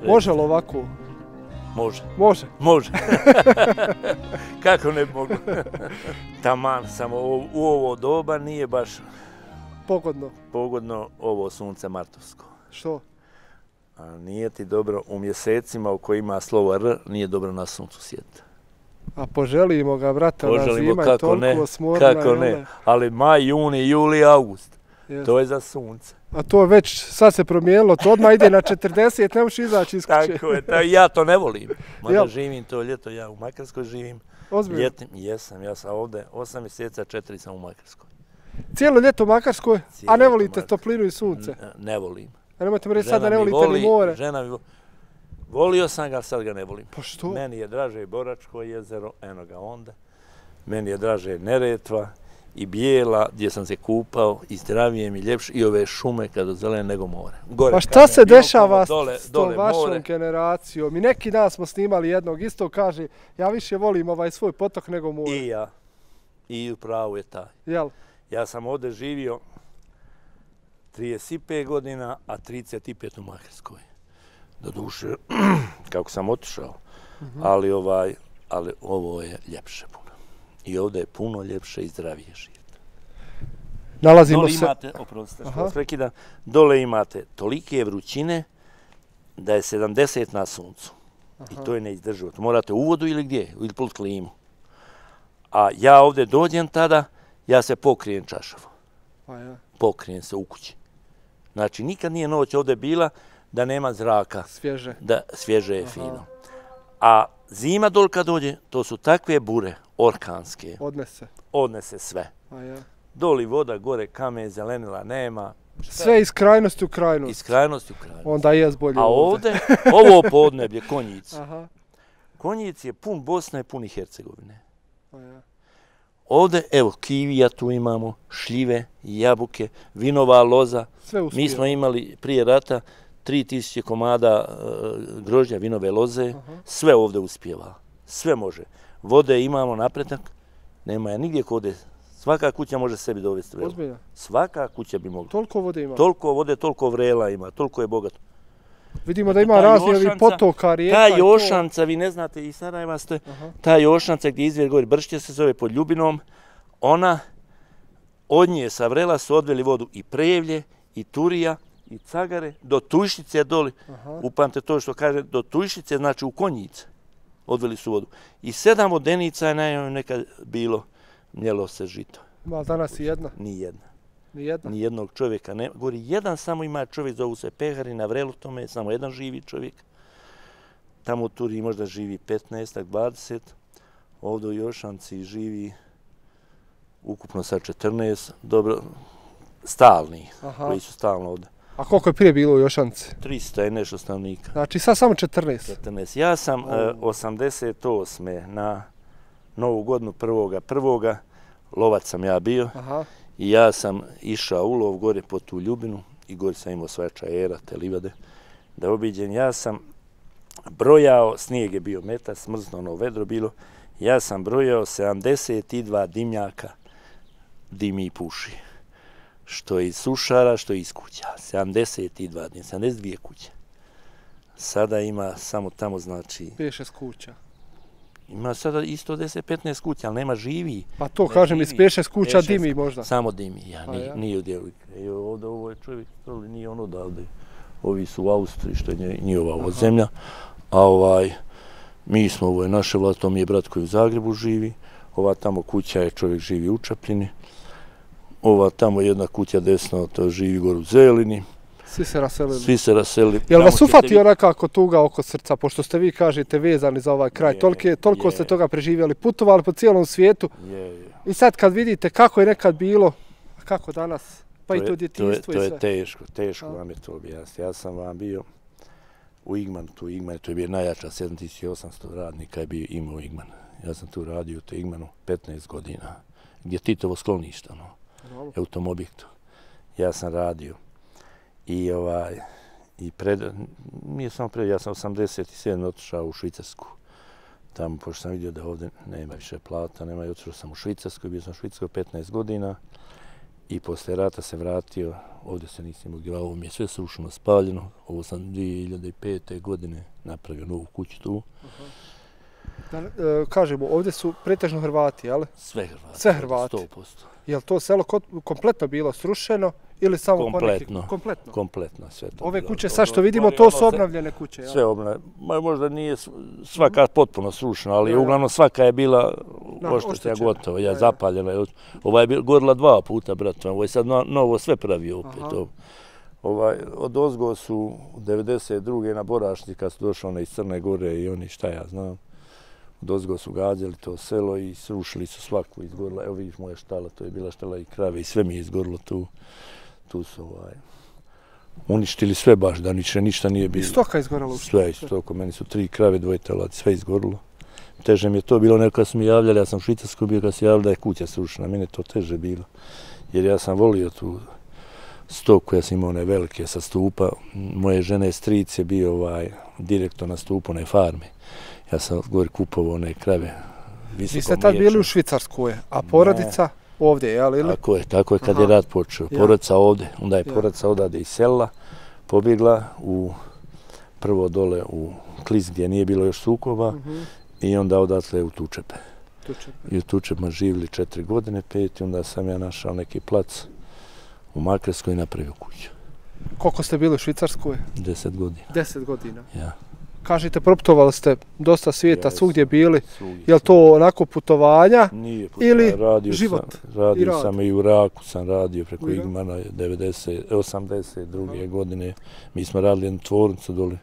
Može li ovako? Može. Može? Može. Kako ne mogu? Taman, samo u ovo doba nije baš pogodno ovo sunce martovsko. Što? A nije ti dobro u mjesecima u kojima slovo R, nije dobro na suncu sjeti. A poželimo ga, brate, ona zima je toliko smorna. Kako ne, ali maj, juni, juli, august, to je za sunce. A to već sad se promijenilo, to odmah ide na 40, ne možeš izaći iz kuće. Tako je, ja to ne volim. Mada živim to ljeto, ja u Makarskoj živim. Ozbiljno? Ljetim, jesam, ja sam ovdje 8 mjeseca, 4 sam u Makarskoj. Cijelo ljeto u Makarskoj, a ne volite toplinu i sunce? Ne volim. A nemojte mi reći sad da ne volite ni more. Žena mi volio sam ga, sad ga ne volim. Pa što? Meni je draže Boračko jezero, eno ga onda. Meni je draže Neretva i Bijela, gdje sam se kupao, i zdravije mi ljepše, i ove šume kada zelene nego more. Pa šta se dešava s tom vašom generacijom? I neki dan smo snimali jednog, isto kaže, ja više volim ovaj svoj potok nego more. I ja. I upravo je taj. Jel? Ja sam ovdje živio 35 godina, a 35 u Makarskoj. Doduše, kako sam otišao, ali ovo je ljepše puno. I ovdje je puno ljepše i zdravije živjeti. Nalazimo se... Dole imate, oprostite što vas prekidam, dole imate tolike vrućine da je 70 na suncu. I to je neizdrživo. To morate u vodu ili gdje, ili pod klimu. A ja ovdje dođem tada, ja se pokrijem čašavo. Pokrijem se u kući. Znači, nikad nije noć ovdje bila da nema zraka. Svježe. Da svježe je fino. A zima dol kad dođe, to su takve bure, orkanske. Odnese sve. Doli voda, gore kamen, zelenila nema. Sve iz krajnosti u krajnost. Iz krajnosti u krajnost. Onda je bolje ovdje. A ovdje, ovo podneblje, Konjic. Konjic je pun Bosne i pun i Hercegovine. Ovdje, evo, kivija tu imamo, šljive, jabuke, vinova loza. Mi smo imali prije rata 3000 komada grožđa vinove loze. Sve ovdje uspjeva. Sve može. Vode imamo napredak. Nema je nigdje kode. Svaka kuća može sebi dovesti vrelo. Ozbiljno? Svaka kuća bi mogla. Toliko vode ima? Toliko vode, toliko vrela ima. Toliko je bogato. Vidimo da ima razni potoka, rijeka. Ta Jošanca, vi ne znate, i Sarajeva ste, ta Jošanca gdje izvjer gori Bršće se zove pod Ljubinom, ona, od nje sa vrela su odveli vodu i Prevlje, i Turija, i Cagare, do Tujšice doli. Upamte to što kaže, do Tujšice, znači u Konjice, odveli su vodu. I 7 vodenica je najmanje nekad bilo, mljelo se žito. Ima danas i jedna? Nijedna. Nijedna? Nijednog čovjeka ne. Gori, jedan samo ima čovjek, zovu se Pehari, na vrelu tome, samo jedan živi čovjek. Tamo u Turiji možda živi 15-20, ovdje u Jošanci živi ukupno sad 14, dobro, stalni, koji su stalno ovdje. A koliko je prije bilo u Jošanci? 300 i nešto stanovnika. Znači sad samo 14? 14. Ja sam 88. na Novu godinu 1.1. lovac sam ja bio. I ja sam išao u lov gore po tu Ljubinu i gore sam imao svoje čajera, te livade, da obiđem. Ja sam brojao, snijeg je bio metar, smrzno ono vedro bilo, ja sam brojao 72 dimnjaka dimi i puši. Što iz sušara, što iz kuća. 72 kuće. Sada ima samo tamo, znači... 5-6 kuća. Ima sada isto 10-15 kuća, ali nema živi. Pa to kažem, iz 5-6 kuća dimi možda. Samo dimi, nije u dijelu. Ovdje ovo je čovjek, nije on odavde. Ovi su u Austriji, što je njihova zemlja. A mi smo, ovo je naše vlast, to mi je brat koji u Zagrebu živi. Ova tamo kuća je, čovjek živi u Čapljini. Ova tamo jedna kuća desno, to živi gore u Zelini. Svi se raselili. Svi se raselili. Jel vas ufatio nekako tuga oko srca, pošto ste vi, kažete, vezani za ovaj kraj? Toliko ste toga preživjeli, putovali po cijelom svijetu. I sad kad vidite kako je nekad bilo, a kako danas, pa i to djetinjstvo i sve. To je teško vam je to objasniti. Ja sam vam bio u Igmanu, to je bio najjača, 7800 radnika je bio imao Igman. Ja sam tu radio u Igmanu 15 godina, gdje Titovo sklonište, u tom objektu. Ja sam radio. I nije samo pred, ja sam 87 otišao u Švicarsku. Tamo, pošto sam vidio da ovdje nema više plata, nema, i otišao sam u Švicarsku, bio sam u Švicarskoj 15 godina. I posle rata se vratio, ovdje se nisam imao gdje, ovo mi je sve srušeno, spaljeno. Ovo sam 2005. godine napravio novu kuću tu. Kažemo, ovdje su pretežno Hrvati, jel? Sve Hrvati. Sve Hrvati. 100%. Je li to selo kompletno bilo srušeno ili samo kompletno? Kompletno. Kompletno sve to. Ove kuće sad što vidimo, to su obnovljene kuće, jel? Sve obnovljene. Možda nije svaka potpuno srušena, ali uglavnom svaka je bila oštećena gotovo. Ja zapaljena. Ova je gorila 2 puta, brate. Ovo je sad novo sve pravio opet. Od ozgo su 92. na Borašnici kad su došli iz Crne Gore i oni šta ja znam. Od ozgo su gađali to selo i srušili su svaku, izgorila. Evo vidiš moja štala, to je bila štala i krave i sve mi je izgorilo tu. Tu su uništili sve baš, da ništa nije bilo. I stoka izgorila? Sve istoko, meni su 3 krave, 2 teladi, sve izgorilo. Teže mi je to bilo, neko kad su mi javljali, ja sam u Švicarsku bio kad se javljali da je kuća srušena, meni je to teže bilo. Jer ja sam volio tu stoku, ja sam imao one velike sa stupa. Moje žene stric je bio direktor na stupu one farme. Ja sam gore kupovao one krave. Vi ste tad bili u Švicarskoj, a porodica ovdje, jel? Tako je kad je rat počeo. Porodica ovdje, onda je porodica odade iz sela, pobjegla prvo dole u Klis gdje nije bilo još sukoba i onda odatle u Tučepe. I u Tučepima živjeli 4 godine, 5 i onda sam ja našao neki plac u Makarskoj i napravio kuću. Koliko ste bili u Švicarskoj? 10 godina. 10 godina? Ja. Kažete, proputovali ste dosta svijeta, svugdje bili. Je li to onako putovanja ili život? Radio sam i u Iraku, sam radio preko Igmana 82. godine. Mi smo radili jednu tvornicu dole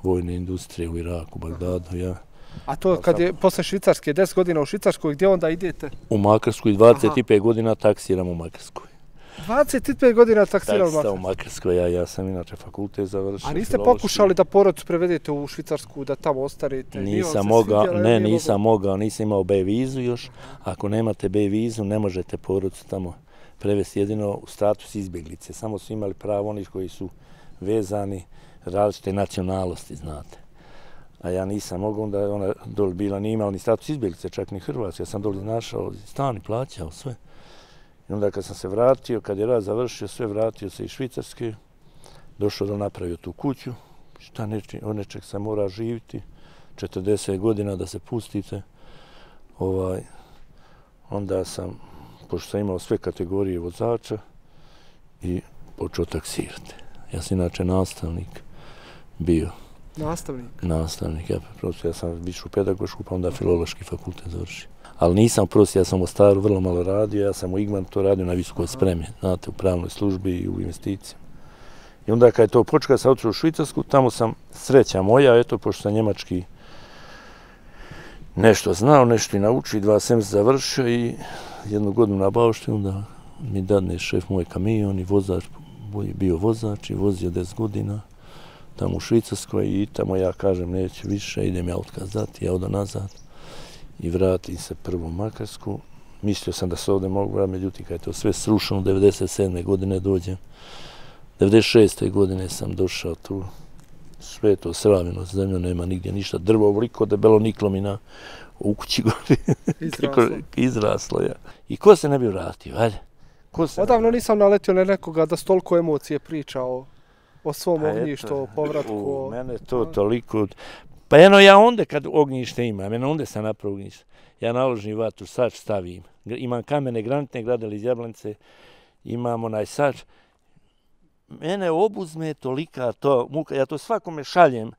vojne industrije u Iraku, Bagdadu, ja. A to kad je posle Švicarske, 10 godina u Švicarskoj, gdje onda idete? U Makarskoj, 25 godina taksiram u Makarskoj. 25 godina taksirao u Makarskoj, ja sam inače fakultet završio. A niste pokušali da porodicu prevedete u Švicarsku, da tamo ostanete? Nisam mogao, nisam imao B vizu još. Ako nemate B vizu, ne možete porodicu tamo prevesti jedino u status izbjeglice. Samo su imali pravo oni koji su vezani različite nacionalnosti, znate. A ja nisam mogao, onda je ona dole bila, nije imala ni status izbjeglice, čak ni Hrvatska. Ja sam dole našao stan i plaćao sve. I onda kad sam se vratio, kad je rat završio, sve vratio se iz Švicarske, došao da napravio tu kuću, od nečeg se mora živiti, 40 godina da se pustite. Onda sam, pošto sam imao sve kategorije vozača, i počeo taksirati. Ja sam inače nastavnik bio. Nastavnik, ja sam više u pedagošku, pa onda filološki fakultet završio. Ali nisam prosti, ja sam u Mostaru vrlo malo radio, ja sam u Igmanu to radio na visokoj spremi, znate, u pravnoj službi i u investicijama. I onda kad je to počeo, kad sam otišao u Švicarsku, tamo sam, sreća moja, eto, pošto sam njemački nešto znao, nešto i naučio, 2 semestra završio i 1 godinu na bauštini, onda mi dadne šef moj kamion i vozač, bio vozač i vozio 10 godina tamo u Švicarskoj i tamo ja kažem neću više, idem ja otkaz dati, ja odam nazad. I vratim se prvo u Makarsku. Mislio sam da se ovdje mogu vratiti, međutim kad je to sve srušeno, 97. godine dođem. 96. godine sam došao tu, sve to sravljeno zemljo, nema nigdje ništa. Drvo ovoliko debelo niklo mi u kući gori. Izraslo, ja. I ko se ne bi vratio, ajde. Odavno nisam naletio na nekoga da s toliko emocije priča o svom ognjištu, o povratku. Mene to toliko... Pa ja onda kad ognjište imam, onda sam napravo ognjište. Ja naložim vatru, sač stavim. Imam kamene granitne gradele iz Jablanice, imam onaj sač. Mene obuzme tolika to muka, ja to svakome šaljem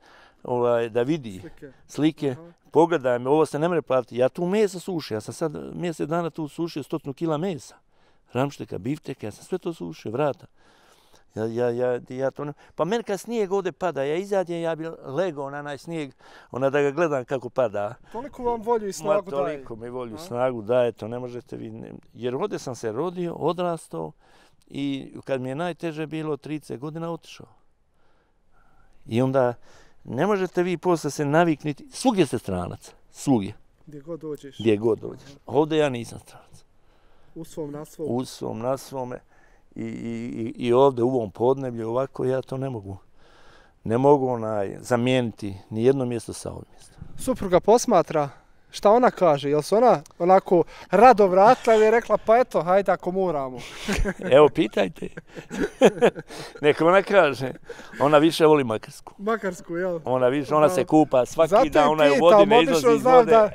da vidi slike. Pogledaj me, ovo se ne može platiti. Ja tu mesa sušim, ja sam sad mjesec dana tu sušio 100 kila mesa. Ramšteka, bifteka, ja sam sve to sušio, vrata. Ja to ne... Pa meni kad snijeg ovdje pada, ja izađem, ja bi legao na onaj snijeg, da ga gledam kako pada. Toliko vam volju i snagu daje. Toliko mi volju i snagu daje, to ne možete vi... Jer ovdje sam se rodio, odrastao i kad mi je najteže bilo 30 godina otišao. I onda ne možete vi posle se navikniti, svugdje ste stranac, svugdje. Gdje god dođeš. Gdje god dođeš. Ovdje ja nisam stranac. U svom, na svom. U svom, na svome. I ovdje u ovom podneblju ovako ja to ne mogu. Ne mogu zamijeniti ni jedno mjesto sa ovim mjestom. Supruga posmatra Šta ona kaže? Jel se ona onako rado vratila ili je rekla pa eto, hajde ako moramo? Evo, pitajte. Neka ona kaže. Ona više voli Makarsku. Makarsku, jel? Ona se kupa svaki dan, ona je u vodi, ne izlazi iz vode.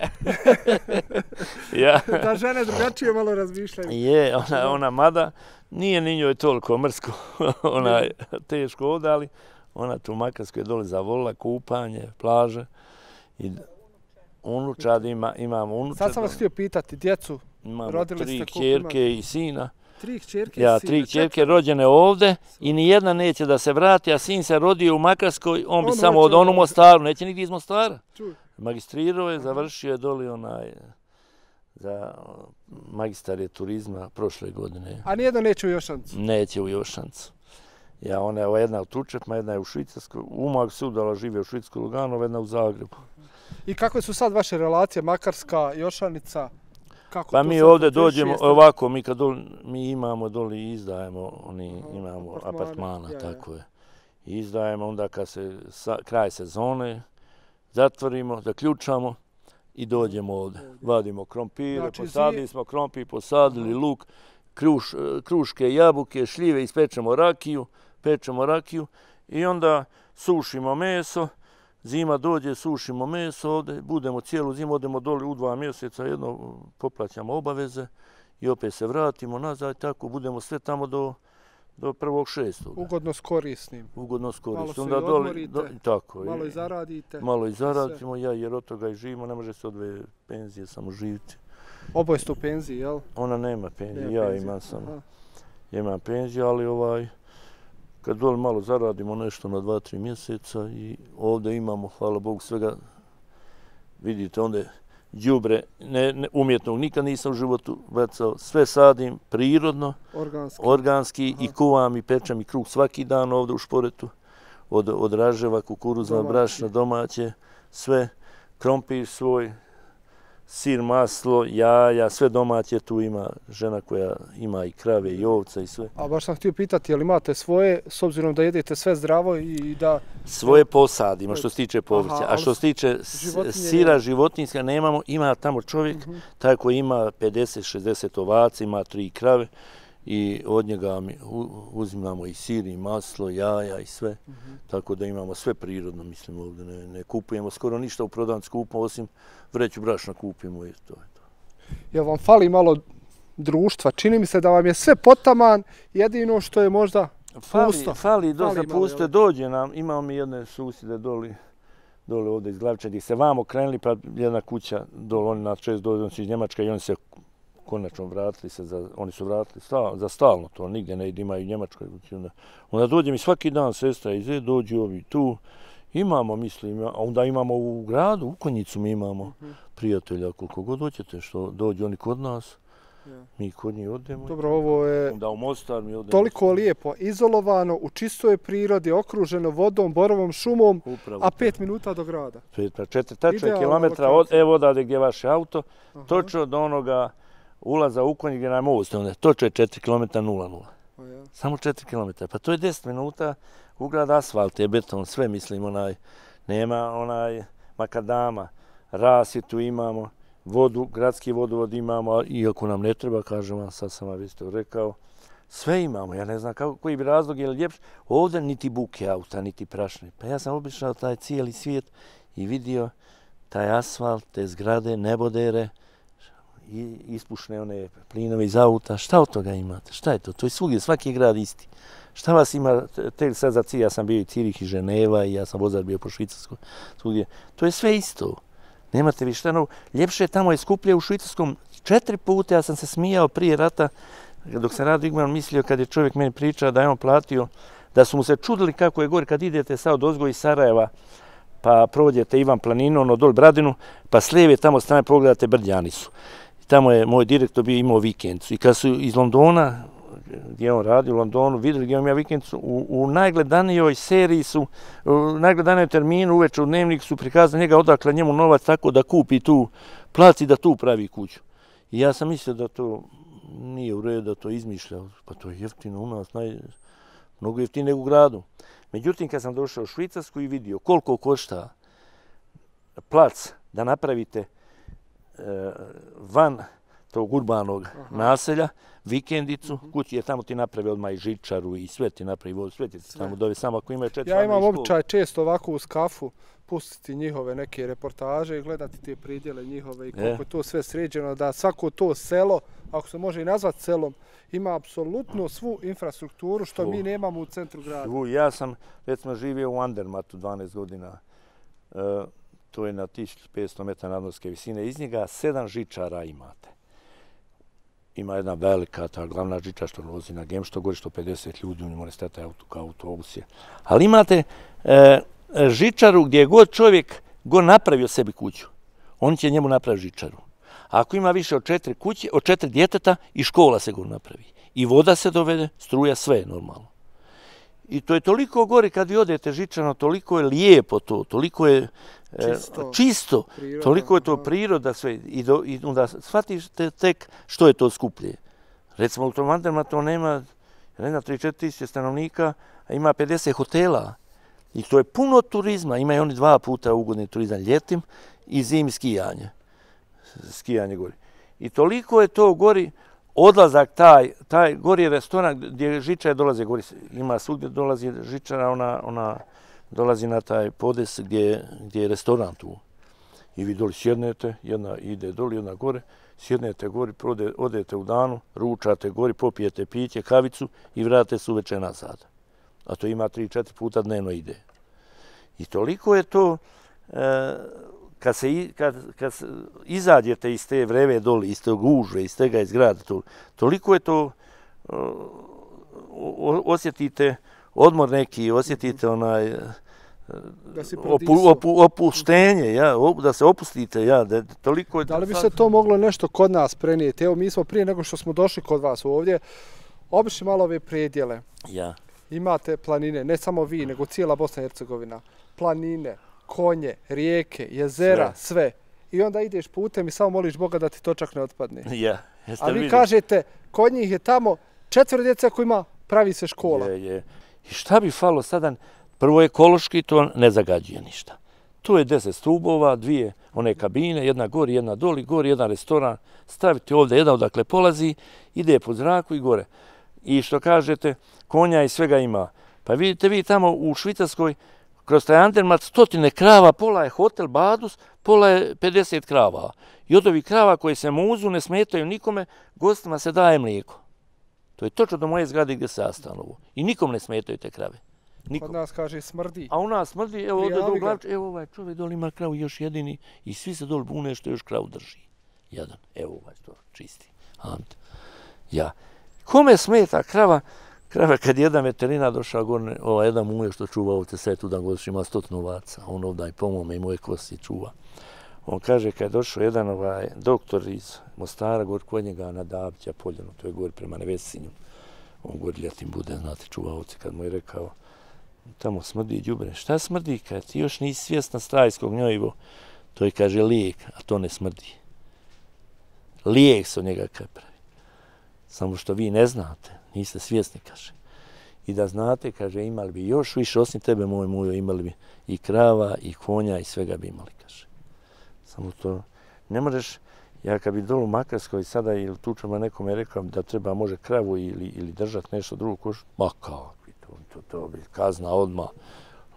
Ja. Da žene drugačije malo razmišljaju. Je, ona mada nije ni njoj toliko mrsko. Ona je teško ovdje, ali ona tu u Makarskoj dole zavolila kupanje, plaže. I unučad imamo unučad. Sad sam vas htio pitati, djecu, rodili ste koliko imate? Imamo 3 kćerke i sina. 3 kćerke i sina? Ja, 3 kćerke rođene ovde i nijedna neće da se vrati, a sin se rodio u Makarskoj, on bi samo od onu Mostaru, neće nigdje iz Mostara. Magistrirao je, završio je doli za magistar je turizma prošle godine. A nijedno neće u Jošancu? Neće u Jošancu. Ja, ona je jedna u Tučepma, jedna je u Švicarskoj, u Umag se udala, žive u Švicarskoj Lugano, jedna u Zagrebu. I kakve su sad vaše relacije, Makarska, Jošanica? Pa mi ovdje dođemo, ovako, mi imamo doli i izdajemo, imamo apartmana, tako je. Izdajemo onda kad se kraj sezone, zatvorimo, zaključamo i dođemo ovdje. Vadimo krompire, posadili smo krompir, posadili luk, kruške, jabuke, šljive, ispečemo rakiju i onda sušimo meso. Zima dođe, sušimo meso ovdje, budemo cijelu zimu, odemo doli u 2 mjeseca, jedno poplaćamo obaveze i opet se vratimo nazad, tako budemo sve tamo do 1.6. Ugodno s korisnim. Ugodno s korisnim. Malo se i odmorite, tako, malo i zaradite. Malo i zaradimo, jer od toga i živimo, ne može se od 2 penzije samo živiti. Oboje ste u penziji, jel? Ona nema penzije, ja imam penziju, ali kad dole malo zaradimo nešto na 2-3 mjeseca i ovdje imamo, hvala Bogu, svega, vidite, onda đubre umjetnog nikad nisam u životu bacao, sve sadim prirodno, organski i kuvam i pečem i kruh svaki dan ovdje u Šporetu, od raževa, kukuruzna, brašna, domaće, sve, krompir svoj, sir, maslo, jaja, sve domaće, tu ima žena koja ima i krave i ovca i sve. A baš sam htio pitati, jel imate svoje, s obzirom da jedete sve zdravo i da... Svoje posadimo što se tiče povrća, a što se tiče sira životinjska nemamo, ima tamo čovjek, taj koji ima 50-60 ovaca, ima 3 krave i od njega uzimamo i sir i maslo, jaja i sve, tako da imamo sve prirodno, mislim ovdje, ne kupujemo skoro ništa u prodavnici skupo, osim vreću brašna kupimo i to je to. Jel vam fali malo društva? Čini mi se da vam je sve potaman, jedino što je možda pusto. Fali dosta pusto, dođe nam, imamo mi jedne susjede dole ovdje iz Glavića, gdje se vamo krenuli, pa jedna kuća dole, oni nas čest dođe iz Njemačka i oni se konačno vratili se, oni su vratili za stalno, to nigdje ne ide, imaju u Njemačkoj. Onda dođe mi svaki dan sestra iz dođu ovi tu, imamo, mislim, a onda imamo u gradu, u Konjicu mi imamo prijatelja, koliko god hoćete, što dođu oni kod nas, mi kod njih odemo. Dobro, ovo je onda u Mostar mi odemo. Toliko lijepo, izolovano, u čistoj prirodi, okruženo vodom, borovom šumom, a 5 minuta do grada. 4 tačne kilometra, evo odavde gdje je vaš auto, točno do onoga ulaza u Konji gdje nam most, točno je 4 km 0,0. Samo 4 km, pa to je 10 minuta u grad, asfalt je beton, sve mislim, nema makadama, rasvjetu imamo, vodu, gradski vodovod imamo, iako nam ne treba, kažem vam, sad sam vam isto rekao, sve imamo, ja ne znam koji bi razlog je ljepši, ovdje niti buke auta, niti prašne. Pa ja sam obišao taj cijeli svijet i vidio taj asfalt, te zgrade, nebodere, i ispušne one plinove iz auta, šta od toga imate? Šta je to? To je svugdje, svaki grad isti. Šta vas ima, sad za cilj, ja sam bio i Cirih i Ženeva i ja sam vozač bio po Švicarskoj, svugdje. To je sve isto. Nemate vi šta novo. Ljepše tamo je skuplje u Švicarskom 4 puta, ja sam se smijao prije rata, dok sam radio Igman mislio kad je čovjek meni pričao da je on platio, da su mu se čudili kako je gore kad idete sad od ozgo iz Sarajeva, pa provodite Ivan planinu, ono dol Bradinu, pa s lijeve tamo strane pogledate Brdjanicu. Tamo je moj direktor bio imao vikendicu i kad su iz Londona, gdje on radi u Londonu, vidjeli gdje imam ja vikendicu, u najgledanijoj seriji su, u najgledanijoj terminu uveče u dnevnik su prikazali njega odakle njemu novac tako da kupi tu, plati da tu pravi kuću. I ja sam mislio da to nije u redu, da to izmišlja, pa to je jeftino u nas, mnogo jeftinije nego u gradu. Međutim, kad sam došao u Švicarsku i vidio koliko košta plac da napravite van tog urbanog naselja, vikendicu, kući je tamo ti napravi odmah i žičaru i sve ti napravi vodu, sve ti tamo dove, samo ako imaju 4 Ja imam običaj često ovako uz kafu pustiti njihove neke reportaže i gledati te pridjele njihove i koliko je to sve sređeno, da svako to selo, ako se može i nazvati selom, ima apsolutno svu infrastrukturu što mi nemamo u centru grada. Ja sam, recimo, živio u Andermatu 12 godina. To je na 1500 metara nadmorske visine. Iz njega 7 žičara imate. Ima jedna velika, ta glavna žičara što vozi na Gem, što gori 150 ljudi, u njemu ne staje kao autobus je. Ali imate žičaru gdje god čovjek napravio sebi kuću, on će njemu napraviti žičaru. Ako ima više od 4 kuće, od 4 djeteta, i škola se napravi. I voda se dovede, struja, sve je normalno. I to je toliko gori kad vi odete žičano, toliko je lijepo to, toliko je čisto, toliko je to priroda sve. I onda shvatite tek što je to skuplje. Recimo u tom Andermatu nema 3-4 tisuće stanovnika, a ima 50 hotela. I to je puno turizma. Imaju oni 2 puta ugodni turizam ljetim i zimi skijanje. Skijanje gori. I toliko je to gori odlazak, taj gori je restoran gdje žičare dolaze gori. Ima svugdje dolazi žičara, ona dolazi na taj podes gdje je restoran tu. I vi doli sjednete, jedna ide doli, jedna gore, sjednete gori, odete u danu, ručate gori, popijete piće, kavicu i vratite se uveče nazad. A to ima 3-4 puta dnevno ide. I toliko je to, kad izađete iz te vreve doli, iz te gužve, iz tega iz grada, toliko je to, osjetite odmor neki, osjetite onaj opuštenje, da se opustite. Toliko je. Da li bi se to moglo nešto kod nas prenijeti? Evo, mi smo prije nego što smo došli kod vas ovdje, obišli malo ove predjele. Imate planine, ne samo vi, nego cijela Bosna i Hercegovina. Planine, konje, rijeke, jezera, sve. I onda ideš putem i samo moliš Boga da ti točak ne otpadne. A vi kažete, kod njih je tamo 4 djece koji ima, pravi se škola. I šta bi falo sada? Prvo ekološki, to ne zagađuje ništa. Tu je 10 stubova, 2 one kabine, jedna gori, jedna doli, gori jedan restoran. Stavite ovdje jedan odakle polazi, ide po zraku i gore. I što kažete, konja i svega ima. Pa vidite vi tamo u Švicarskoj, kroz taj Andermat, 100 krava, pola je hotel Badus, pola je 50 krava. I od ovih krava koje se muzu, ne smetaju nikome, gostima se daje mlijeko. To je točno do moje zgrade gdje se ja stanovu. I nikom ne smetaju te krave. Kod nas kaže smrdi. A u nas smrdi, evo ovdje do Glavče, evo ovaj čovjek dole ima kravu još jedini i svi se dole bune što još kravu drži. Jedan, evo ovaj to čisti. Ante. Kome smeta krava? Krava kad jedan veterina došao gore, jedan muje što čuva ovdje sve tu dan godiš ima 100 ovaca. On ovdje po mome i moje kosti čuva. On kaže kad je došao jedan doktor iz Mostara gore kod njega na Dabića Poljanu, to je gore prema Nevesinju. On gore ljetim bude, znate, čuva ovdje kad mu je rekao tamo smrdi đubre. Šta smrdi? Kad ti još nisi svjesna stajskog gnojivo, to je kaže lijek, a to ne smrdi. Lijek se od njega pravi. Samo što vi ne znate, niste svjesni, kaže. I da znate, kaže, imali bi još više, osim tebe, moj mujo, imali bi i krava, i konja, i svega bi imali, kaže. Samo to, ne možeš, ja kad bi dolu u Makarskoj sada ili tučama nekome rekao da treba može kravu ili držati nešto drugo košu, ma kao, to bi kazna odmah,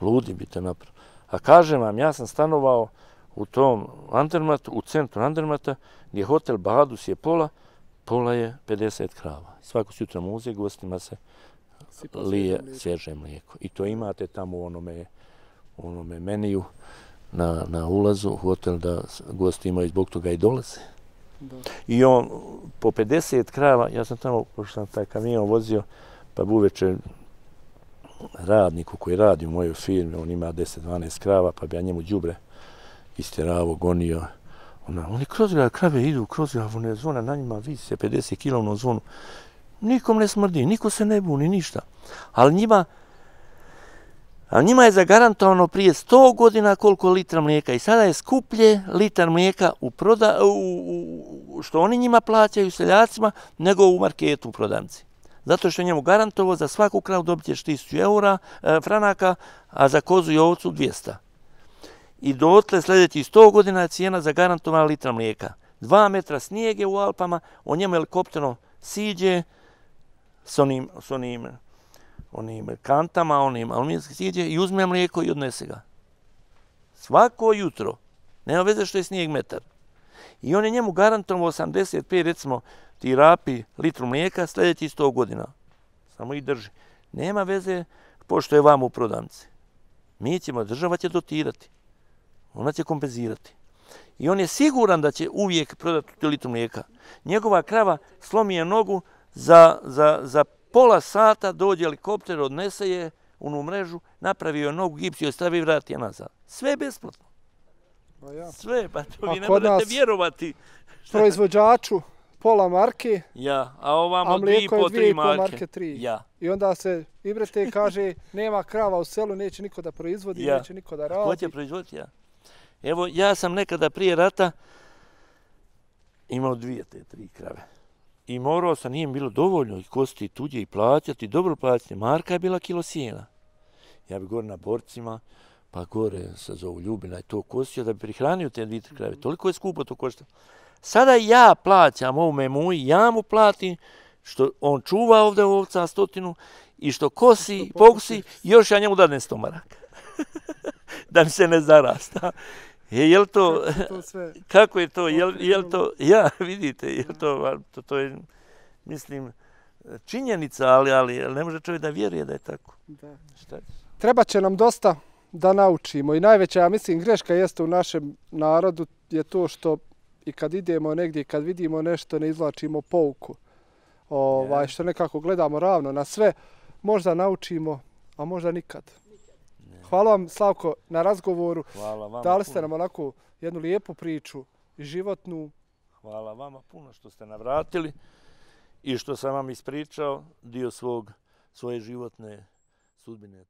ludi bi te napravo. A kažem vam, ja sam stanovao u tom Andermatu, u centru Andermata, gdje hotel Badus je pola je 50 krava. Svako sutra muze, gostima se lije svježe mlijeko. I to imate tamo u onome meniju na ulazu u hotel da gosti imaju zbog toga i dolaze. I on po 50 krava, ja sam tamo, pošto sam taj kamion vozio, pa uveče radniku koji radi u mojoj firmi, on ima 10-12 krava, pa bi ja njemu đubre istjeravo, gonio. Oni kroz grad, krave idu kroz grad, one zvona na njima vise 50 kilovnom zvonu. Nikom ne smrdi, niko se ne buni, ništa. Ali njima je zagarantovano prije 100 godina koliko litra mlijeka i sada je skuplje litar mlijeka što oni njima plaćaju seljacima nego u marketu u prodavnici. Zato što je njemu garantovo za svaku kravu dobit ćeš 1000 franaka, a za kozu i ovcu 200. I dotle sljedećih 100 godina je cijena zagarantovana litra mlijeka. 2 metra snijege u Alpama, on njemu helikopterom siđe s onim kantama, onim aluminijskim siđe i uzme mlijeko i odnese ga. Svako jutro. Nema veze što je snijeg metar. I on je njemu garantovao 85, recimo, ti rapi litru mlijeka sljedeći 100 godina. Samo ih drži. Nema veze pošto je vam u prodavnici. Država će dotirati. Ona će kompenzirati. I on je siguran da će uvijek prodati tu litru mlijeka. Njegova krava slomi je nogu, za pola sata dođe helikopter, odnese je u onu mrežu, napravi joj nogu, gips joj stavi i vrati je nazad. Sve besplatno. Sve, pa to vi ne možete vjerovati. Proizvođaču pola marke, a ovamo 2,5-3 marke. I onda se Ibrete kaže, nema krava u selu, neće niko da proizvodi, neće niko da radi. Ko će proizvoditi? Evo, ja sam nekada prije rata imao 2 te 3 krave. I morao sam, nije mi bilo dovoljno i kostiti tuđe i plaćati, dobro plaćati. Marka je bila kilo sjena. Ja bi gore na borcima, pa gore se zovu Ljubina i to kostio da bi prihranio te 2 krave. Toliko je skupo to koštalo. Sada ja plaćam ovome muji, ja mu platim što on čuva ovdje ovca 100 i što kosi, pokusi, još ja njemu dadnem 100 maraka. Da mi se ne zarasta. Jel to, kako je to, jel to, vidite, to je, mislim, činjenica, ali ne može čovjek da vjeruje da je tako. Treba će nam dosta da naučimo i najveća, ja mislim, greška jeste u našem narodu je to što i kad idemo negdje, kad vidimo nešto, ne izvlačimo pouku. Što nekako gledamo ravno na sve, možda naučimo, a možda nikad. Hvala vam, Slavko, na razgovoru. Dali ste nam onako jednu lijepu priču i životnu. Hvala vama puno što ste navratili i što sam vam ispričao dio svoje životne sudbine.